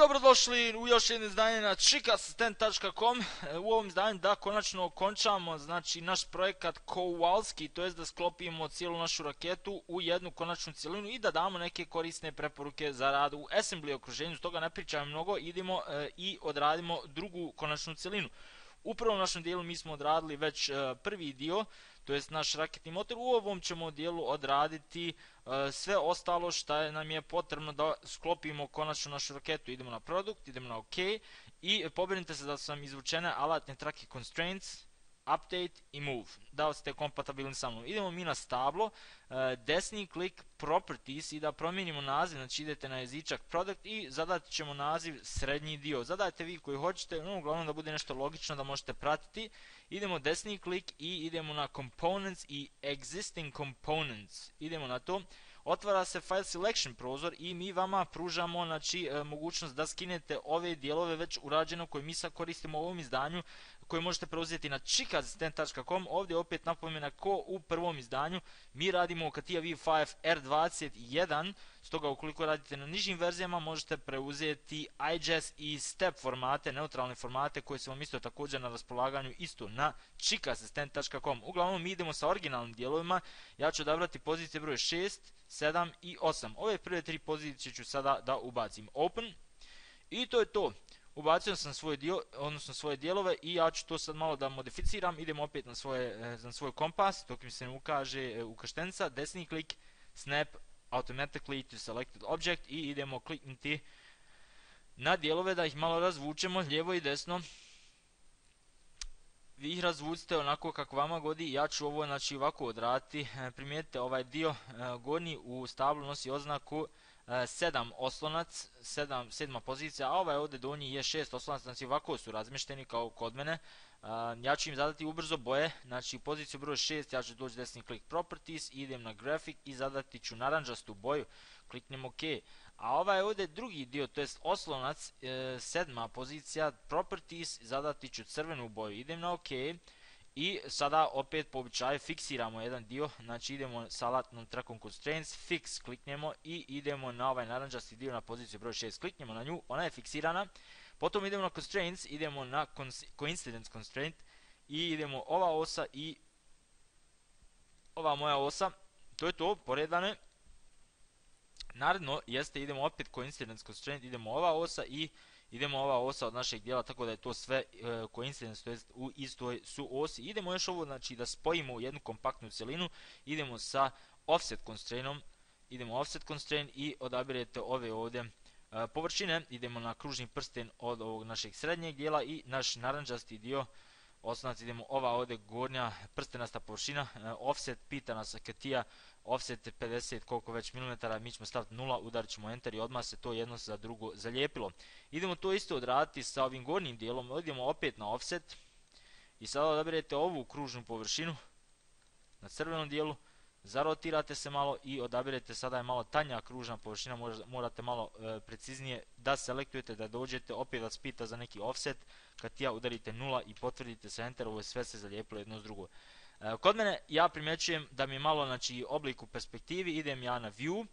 Dobrodošli u još jedno izdanje na chickassistent.com. U ovom izdanju da konačno okončamo naš projekat Kowalski, to jest da sklopimo cijelu našu raketu u jednu konačnu cjelinu i da damo neke korisne preporuke za rad u assembly okruženju. Stoga ne pričamo mnogo, idemo i odradimo drugu konačnu cjelinu. U prvom našem dijelu mi smo odradili već prvi dio, to jest naš raketni motor. U ovom ćemo dijelu odraditi sve ostalo što nam je potrebno da sklopimo konačno našu raketu. Idemo na produkt, idemo na OK i pobrinite se da su vam izvučene alatne trake constraints, update i move, da ste kompatibilni sa mnom. Idemo mi na stablo, desni klik properties i da promijenimo naziv, znači idete na jezičak product i zadat ćemo naziv srednji dio. Zadajte vi koji hoćete, uglavnom da bude nešto logično da možete pratiti. Idemo desni klik i idemo na components i existing components. Idemo na to. Otvara se file selection prozor i mi vama pružamo mogućnost da skinete ove dijelove već urađeno koje mi sad koristimo u ovom izdanju, koje možete preuzeti na chickassistent.com. Ovdje opet napomena ko u prvom izdanju, mi radimo CATIA V5 R21, stoga ukoliko radite na nižim verzijama možete preuzeti IGES i STEP formate, neutralne formate koje su vam isto također na raspolaganju isto na chickassistent.com. Uglavnom mi idemo sa originalnim dijelovima, ja ću odabrati pozicije broj 6, 7 i 8. Ove prve tri pozicije ću sada da ubacim. Open i to je to. Ubacio sam svoj dio, odnosno svoje dijelove i ja ću to sad malo da modificiram. Idemo opet na svoj kompas, dok mi se ne ukaže ukrštenica, desni klik, snap automatically to selected object i idemo kliknuti na dijelove da ih malo razvučemo lijevo i desno. Vi ih razvucite onako kako vama godi, ja ću ovo ovako odraditi. Primijetite ovaj dio gornji u stablu nosi oznaku 7 oslonac, 7. pozicija, a ovaj ovdje donji je 6 oslonac, znači ovako su razmješteni kao kod mene. Ja ću im zadati ubrzo boje, znači u poziciju broj 6 ja ću doći desni klik properties, idem na graphic i zadati ću naranđastu boju, kliknem OK. A ovaj ovdje drugi dio, to jest oslonac, 7. pozicija properties, zadati ću crvenu boju, idem na OK. I sada opet po običaju fiksiramo jedan dio, znači idemo sa alatnom trakom constraints, fix kliknemo i idemo na ovaj naranđasti dio na poziciju broj 6, kliknemo na nju, ona je fiksirana. Potom idemo na constraints, idemo na coincidence constraint i idemo ova osa i ova moja osa, to je to, poredano je. Naredno jeste, idemo opet coincidence constraint, idemo ova osa i idemo ova osa od našeg dijela, tako da je to sve coincidence, to jest u istoj su osi. Idemo još ovo da spojimo u jednu kompaktnu cjelinu, idemo sa offset constrainom, idemo offset constraint i odabirete ove ovdje površine, idemo na kružni prsten od ovog našeg srednjeg dijela i naš naranđasti dio, osnovac, idemo ova ovdje gornja prstenasta površina, offset, pita nas CATIA, offset 50 koliko već milimetara, mi ćemo staviti 0, udarit ćemo enter i odmah se to jedno za drugo zalijepilo. Idemo to isto odraditi sa ovim gornjim dijelom, idemo opet na offset i sada odabirete ovu kružnu površinu na crvenom dijelu, zarotirate se malo i odabirete, sada je malo tanja kružna površina, morate malo preciznije da selektujete, da dođete, opet vas pita za neki offset, CATIA udarite 0 i potvrdite sa enter, ovo je sve se zalijepilo jedno s drugo. Kod mene ja primjećujem da mi je malo oblik u perspektivi, idem ja na view,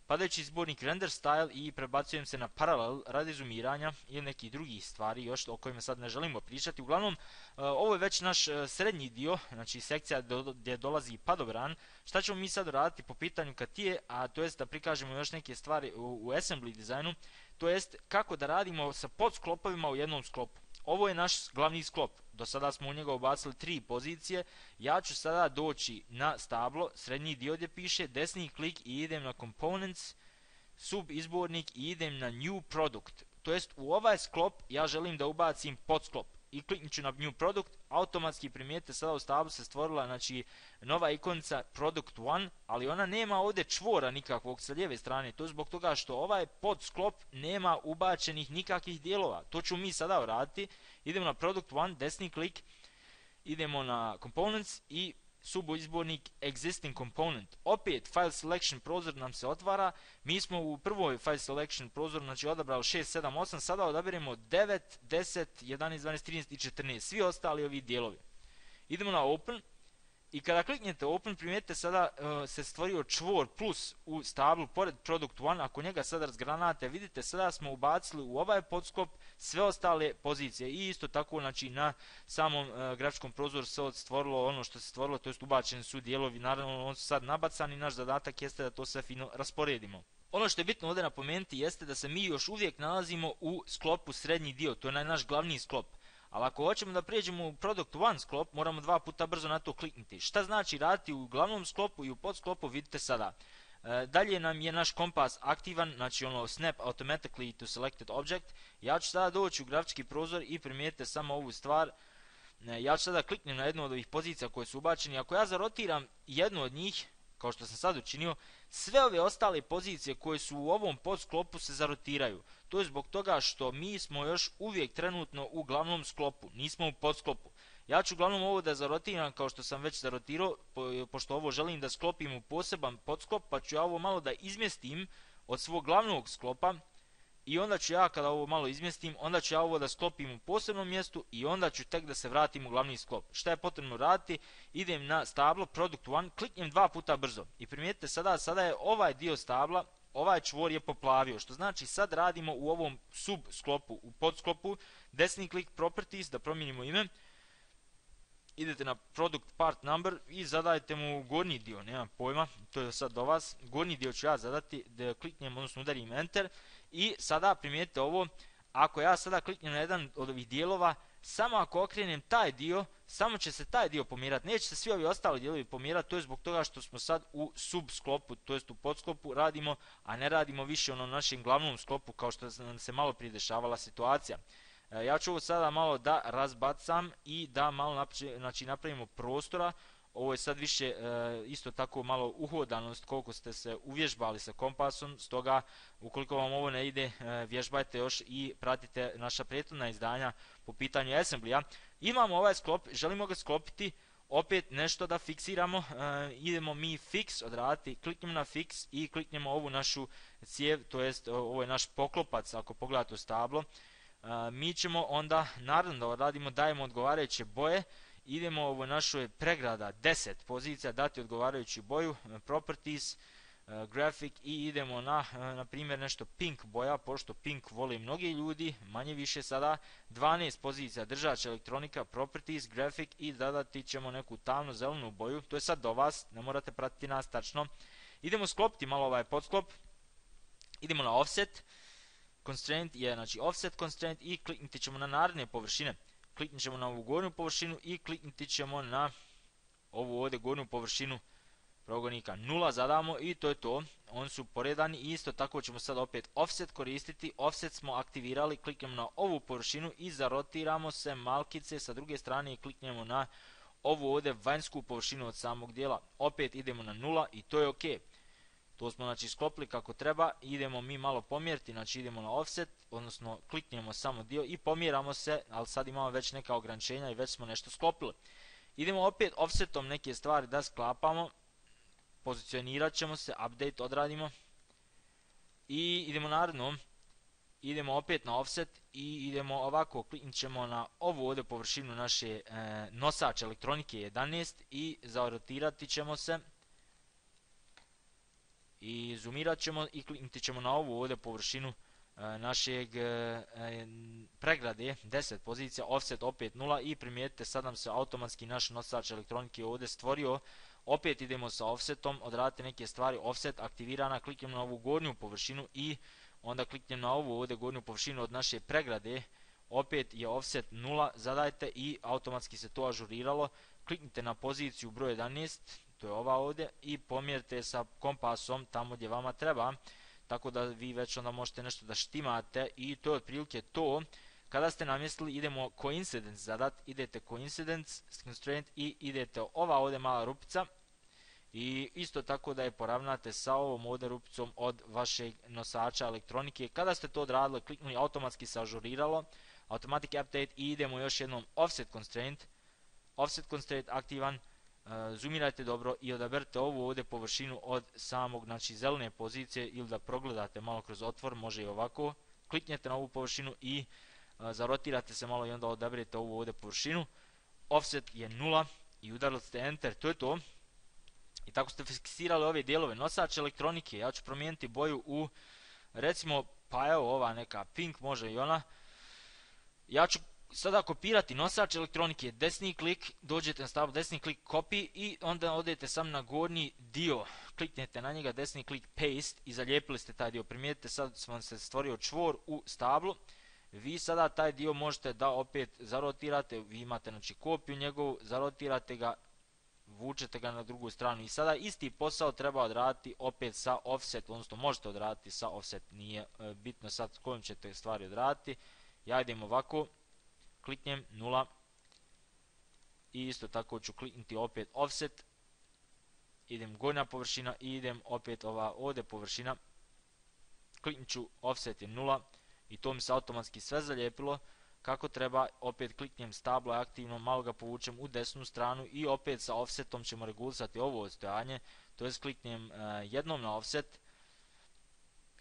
padajući izbornik render style i prebacujem se na parallel radi zoomiranja ili nekih drugih stvari još o kojima sad ne želimo pričati. Uglavnom, ovo je već naš srednji dio, znači sekcija gdje dolazi padobran. Šta ćemo mi sad raditi po pitanju CATIA, a to jest da prikažemo još neke stvari u assembly dizajnu, to jest kako da radimo sa podsklopovima u jednom sklopu. Ovo je naš glavni sklop, do sada smo u njega ubacili 3 pozicije, ja ću sada doći na stablo, srednji dio gdje piše, desni klik i idem na components, sub izbornik i idem na new product, to jest u ovaj sklop ja želim da ubacim podsklop i kliknut ću na new product, automatski primijetite sada u stablu se stvorila nova ikonica product 1, ali ona nema ovdje čvora nikakvog sa lijeve strane, to je zbog toga što ovaj podsklop nema ubačenih nikakvih dijelova. To ću mi sada uraditi, idemo na product 1, desni klik, idemo na components i subizbornik existing component. Opet file selection prozor nam se otvara, mi smo u prvoj file selection prozoru odabrali 6, 7, 8, sada odabiremo 9, 10, 11, 12, 13 i 14, svi ostali ovi dijelovi. Idemo na open I kada kliknete open, primijetite sada se stvorio čvor plus u stablu pored product 1. Ako njega sada razgranate, vidite sada smo ubacili u ovaj podsklop sve ostale pozicije i isto tako znači na samom grafičkom prozoru se stvorilo ono što se stvorilo, to jest ubačeni su dijelovi, naravno oni su sad nabacani, naš zadatak jeste da to sve fino rasporedimo. Ono što je bitno ovdje napomenuti jeste da se mi još uvijek nalazimo u sklopu srednji dio, to je naš glavni sklop. Ali ako hoćemo da prijeđemo u Product 1 sklop, moramo dva puta brzo na to kliknuti. Šta znači raditi u glavnom sklopu i u podsklopu, vidite sada. Dalje nam je naš kompas aktivan, znači ono snap automatically to selected object. Ja ću sada doći u grafički prozor i primijetite samo ovu stvar. Ja ću sada kliknem na jednu od ovih pozicija koje su ubačeni. Ako ja zarotiram jednu od njih, kao što sam sad učinio, sve ove ostale pozicije koje su u ovom podsklopu se zarotiraju. To je zbog toga što mi smo još uvijek trenutno u glavnom sklopu, nismo u podsklopu. Ja ću uglavnom ovo da zarotiram kao što sam već zarotirao, pošto ovo želim da sklopim u poseban podsklop, pa ću ja ovo malo da izmjestim od svog glavnog sklopa. I onda ću ja, kada ovo malo izmjestim, onda ću ja ovo da sklopim u posebnom mjestu i onda ću tek da se vratim u glavni sklop. Šta je potrebno raditi? Idem na stablo Product 1, kliknem dva puta brzo. I primijetite sada je ovaj dio stabla, ovaj čvor je poplavio, što znači sad radimo u ovom sub sklopu, u podsklopu, desni klik Properties, da promijenimo ime. Idete na Product Part Number i zadajte mu gornji dio, nemam pojma, to je sad do vas. Gornji dio ću ja zadati, da kliknem, odnosno udarim Enter. I sada primijetite ovo, ako ja sada kliknem na jedan od ovih dijelova, samo ako okrenem taj dio, samo će se taj dio pomjerati, neće se svi ovi ostali dijelovi pomjerati, to je zbog toga što smo sad u subsklopu, to jest u podsklopu radimo, a ne radimo više ono našem glavnom sklopu kao što nam se malo prije dešavala situacija. Ja ću ovo sada malo da razbacam i da malo napravimo prostora. Ovo je sad više isto tako malo uhodanost koliko ste se uvježbali sa kompasom, stoga ukoliko vam ovo ne ide, vježbajte još i pratite naša prethodna izdanja po pitanju Assembly-a. Imamo ovaj sklop, želimo ga sklopiti, opet nešto da fiksiramo, idemo mi fix odraditi, kliknemo na fix i kliknemo ovu našu cijev, to jest ovo je naš poklopac ako pogledate u stablo. Mi ćemo onda, naravno da odradimo, dajemo odgovarajuće boje. Idemo ovo našoj pregrada 10 pozicija, dati odgovarajuću boju, Properties, Graphic i idemo na primjer nešto pink boja, pošto pink vole mnogi ljudi, manje više sada, 12 pozicija, držač elektronika, Properties, Graphic i zadati ćemo neku tamno zelenu boju, to je sad do vas, ne morate pratiti nas tačno. Idemo sklopiti malo ovaj podsklop, idemo na Offset, Constraint je znači Offset Constraint i klikniti ćemo na naredne površine. Kliknit ćemo na ovu gornju površinu i klikniti ćemo na ovu ovdje gornju površinu progonika 0 zadamo i to je to. Oni su poredani i isto tako ćemo sad opet offset koristiti. Offset smo aktivirali, kliknemo na ovu površinu i zarotiramo se malkice sa druge strane i kliknemo na ovu ovdje vanjsku površinu od samog dijela. Opet idemo na 0 i to je ok. To smo znači sklopili kako treba, idemo mi malo pomjeriti, znači idemo na offset, odnosno kliknemo samo dio i pomjeramo se, ali sad imamo već neka ograničenja i već smo nešto sklopili. Idemo opet offsetom neke stvari da sklapamo, pozicionirat ćemo se, update odradimo i idemo naredno, idemo opet na offset i idemo ovako, kliknit ćemo na ovu ovdje površinu naše nosač elektronike 11 i zarotirati ćemo se. I zoomirat ćemo i kliknuti ćemo na ovu ovdje površinu našeg pregrade 10 pozicija, offset opet 0 i primijetite sad nam se automatski naš nosač elektronike ovdje stvorio. Opet idemo sa offsetom, odradite neke stvari, offset aktivirana, kliknem na ovu gornju površinu i onda kliknem na ovu ovdje gornju površinu od naše pregrade, opet je offset 0, zadajte i automatski se to ažuriralo. Kliknite na poziciju broj 11, to je ova ovdje, i pomjerite sa kompasom tamo gdje vama treba, tako da vi već onda možete nešto da štimate i to je otprilike to. Kada ste namjestili, idemo coincidence zadat, idete coincidence constraint i idete ova ovdje mala rupica i isto tako da je poravnate sa ovom ovdje rupicom od vašeg nosača elektronike. Kada ste to odradili, kliknuli, automatski se ažuriralo, automatic update i idemo još jednom offset constraint aktivan. Zoomirajte dobro i odaberite ovu ovdje površinu od samog znači zelene pozicije ili da progledate malo kroz otvor, može i ovako. Kliknete na ovu površinu i zarotirate se malo i onda odaberete ovu ovdje površinu. Offset je 0 i udarili ste enter, to je to. I tako ste fiksirali ove dijelove. Nosač elektronike, ja ću promijeniti boju u, recimo, pa evo ova neka pink, može i ona. Ja ću sada kopirati nosač elektronike, desni klik, dođete na stablo, desni klik copy i onda odete sam na gornji dio, kliknete na njega, desni klik paste i zalijepili ste taj dio. Primijetite, sad vam se stvorio čvor u stablu. Vi sada taj dio možete da opet zarotirate, vi imate znači kopiju njegovu, zarotirate ga, vučete ga na drugu stranu i sada isti posao treba odraditi opet sa offset, odnosno možete odraditi sa offset, nije bitno sad kojim ćete stvari odraditi. Ja idem ovako, kliknem 0 i isto tako ću kliknuti opet offset, idem gornja površina i idem opet ova ovdje površina, kliknut ću offset je 0 i to mi se automatski sve zalijepilo kako treba. Opet kliknem stablo aktivno, malo ga povučem u desnu stranu i opet sa offsetom ćemo regulisati ovo odstojanje, to jest kliknem jednom na offset,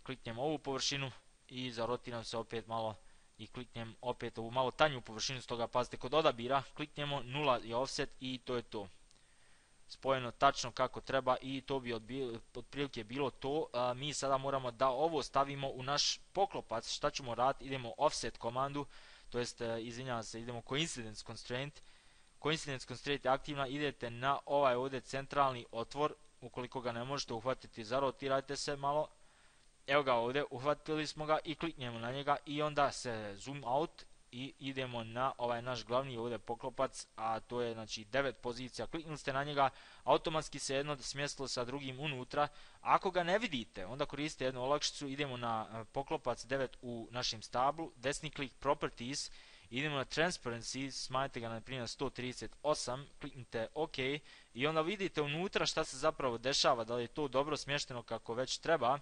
kliknem ovu površinu i zarotiram se opet malo i kliknem opet ovu malo tanju površinu, stoga pazite kod odabira, kliknemo 0 je offset i to je to. Spojeno tačno kako treba i to bi otprilike bilo to. Mi sada moramo da ovo stavimo u naš poklopac. Šta ćemo raditi? Idemo offset komandu, to jest, izvinjavam se, idemo coincidence constraint. Coincidence constraint je aktivna, idete na ovaj ovdje centralni otvor, ukoliko ga ne možete uhvatiti, zarotirajte se malo. Evo ga ovdje, uhvatili smo ga i kliknemo na njega i onda se zoom out i idemo na ovaj naš glavni ovdje poklopac, a to je znači 9 pozicija. Kliknuli ste na njega, automatski se jedno smjestilo sa drugim unutra. Ako ga ne vidite, onda koristite jednu olakšicu, idemo na poklopac 9 u našem stablu, desni klik properties, idemo na transparency, smanjite ga na primjer 138, kliknite OK i onda vidite unutra šta se zapravo dešava, da li je to dobro smješteno kako već treba.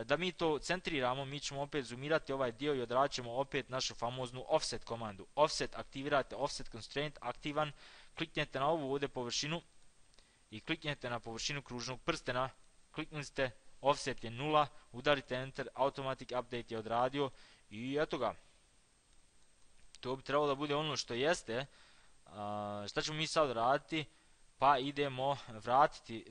Da mi to centriramo, mi ćemo opet zoomirati ovaj dio i odradit ćemo opet našu famoznu offset komandu. Offset aktivirate, offset constraint aktivan, kliknete na ovu ovdje površinu i kliknete na površinu kružnog prstena, kliknuli ste, offset je 0, udarite enter, automatic update je odradio i eto ga. To bi trebalo da bude ono što jeste. Šta ćemo mi sad raditi? Pa idemo vratiti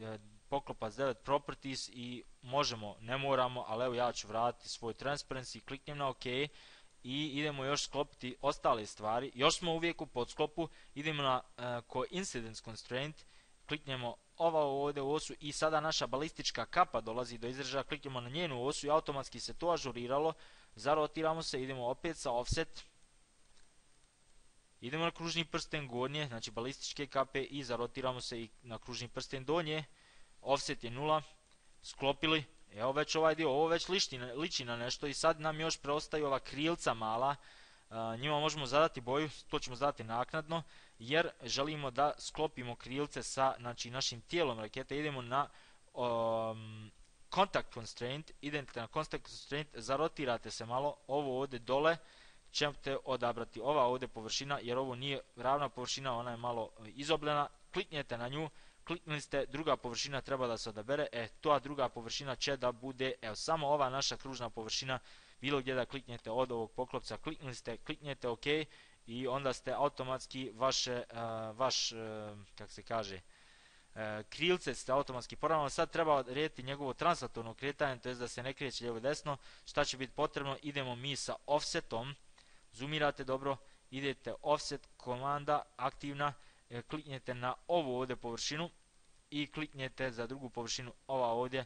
poklopac 9 properties i možemo, ne moramo, ali evo ja ću vratiti svoj transparency, kliknem na OK i idemo još sklopiti ostale stvari. Još smo uvijek u podsklopu, idemo na coincidence constraint, kliknemo ova ovdje osu i sada naša balistička kapa dolazi do izražaja, kliknemo na njenu osu i automatski se to ažuriralo, zarotiramo se, idemo opet sa offset, idemo na kružni prsten gornje, znači balističke kape i zarotiramo se i na kružni prsten donje, offset je 0, sklopili, evo već ovaj dio, ovo već liči na nešto i sad nam još preostaju ova krilca mala, njima možemo zadati boju, to ćemo zadati naknadno, jer želimo da sklopimo krilce sa znači, našim tijelom rakete. Idemo na contact constraint, idete na contact constraint, zarotirate se malo, ovo ovdje dole ćete odabrati ova ovdje površina, jer ovo nije ravna površina, ona je malo izobljena, kliknete na nju, kliknuli ste, druga površina treba da se odabere, ta druga površina će da bude, evo samo ova naša kružna površina, bilo gdje da kliknete od ovog poklopca, kliknuli ste, kliknete OK i onda ste automatski kako se kaže, krilce ste automatski poravnali. Sad treba odrediti njegovo translatorno kretanje, to je da se ne kreće lijevo desno. Šta će biti potrebno? Idemo mi sa offsetom, zoomirate dobro, idete offset komanda aktivna, kliknete na ovu ovdje površinu i kliknete za drugu površinu, ova ovdje,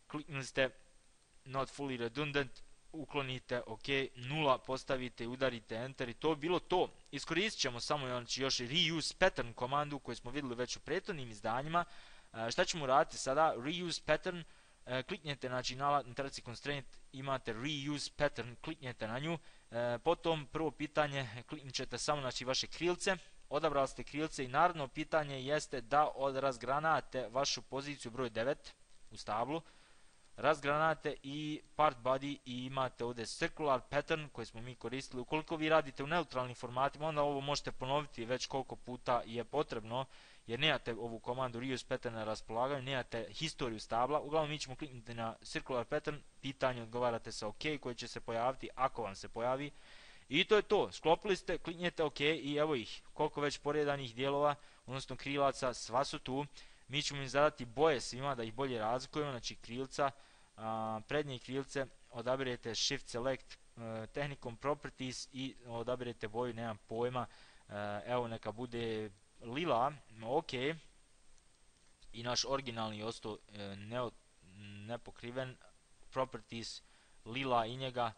kliknuli ste not fully redundant, uklonite OK, 0 postavite i udarite enter i to bi bilo to. Iskoristit ćemo samo znači, još reuse pattern komandu koju smo vidjeli već u prethodnim izdanjima. Šta ćemo raditi sada? Reuse pattern, kliknete znači, na traci constraint, imate reuse pattern, kliknete na nju, potom prvo pitanje, kliknit ćete samo znači, vaše krilce, odabrali ste krilce i naredno pitanje jeste da razgranate vašu poziciju broj 9 u stablu, razgranate i part body i imate ovdje circular pattern koji smo mi koristili. Ukoliko vi radite u neutralnim formatima, onda ovo možete ponoviti već koliko puta je potrebno, jer nemate ovu komandu reuse pattern na raspolaganju, nemate historiju stabla. Uglavnom mi ćemo kliknuti na circular pattern, pitanje odgovarate sa OK koji će se pojaviti ako vam se pojavi I to je to, sklopili ste, kliknete OK i evo ih, koliko već poredanih dijelova, odnosno krilaca, sva su tu. Mi ćemo im zadati boje svima da ih bolje razlikujemo, znači krilca, prednje krilce, odabirete Shift Select tehnikom Properties i odabirete boju, nemam pojma, evo neka bude lila, OK. I naš originalni je ostao nepokriven, Properties, lila i njega.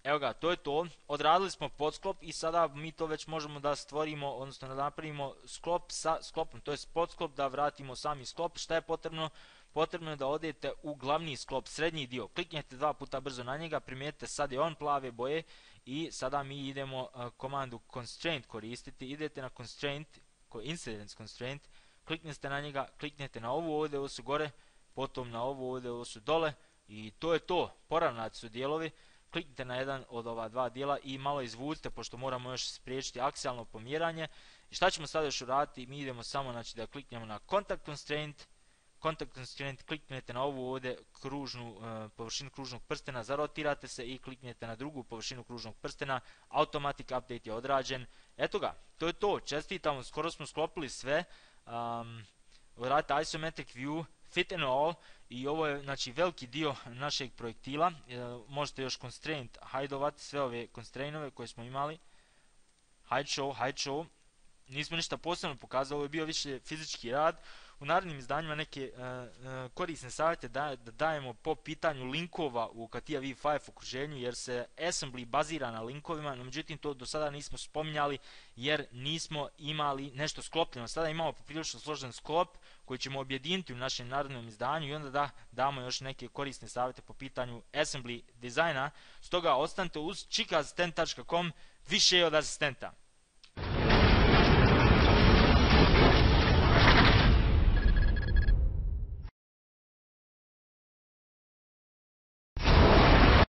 Evo ga, to je to, odradili smo podsklop i sada mi to već možemo da stvorimo, odnosno da napravimo sklop sa sklopom, to je podsklop, da vratimo sami sklop. Šta je potrebno? Potrebno je da odete u glavni sklop, srednji dio, kliknete 2 puta brzo na njega, primijetite sad je on plave boje i sada mi idemo komandu constraint koristiti, idete na constraint, incidence constraint, kliknete na njega, kliknete na ovu ovdje, ovo su gore, potom na ovu ovdje, ovo su dole i to je to, poravnati su dijelovi. Kliknite na jedan od ova dva dijela i malo izvucite, pošto moramo još spriječiti aksijalno pomjeranje. I šta ćemo sada još uraditi? Mi idemo samo, znači, da kliknemo na Contact Constraint, kliknete na ovu ovdje površinu kružnog prstena, zarotirate se i kliknete na drugu površinu kružnog prstena, Automatic Update je odrađen. Eto ga, to je to, čestitamo, skoro smo sklopili sve. Uradite Isometric View, Fit and All, i ovo je, znači, veliki dio našeg projektila. Možete još constraint hideovati sve ove constrainove koje smo imali. Hide show, nismo ništa posebno pokazali, ovo je bio više fizički rad. U narednim izdanjima neke korisne savjete da dajemo po pitanju linkova u CATIA V5 okruženju, jer se assembly bazira na linkovima, no međutim to do sada nismo spominjali jer nismo imali nešto sklopljeno. Sada imamo poprilično složen sklop koji ćemo objediniti u našem narednom izdanju i onda da damo još neke korisne savjete po pitanju assembly dizajna. Stoga ostanite uz chicas10.com, više od asistenta.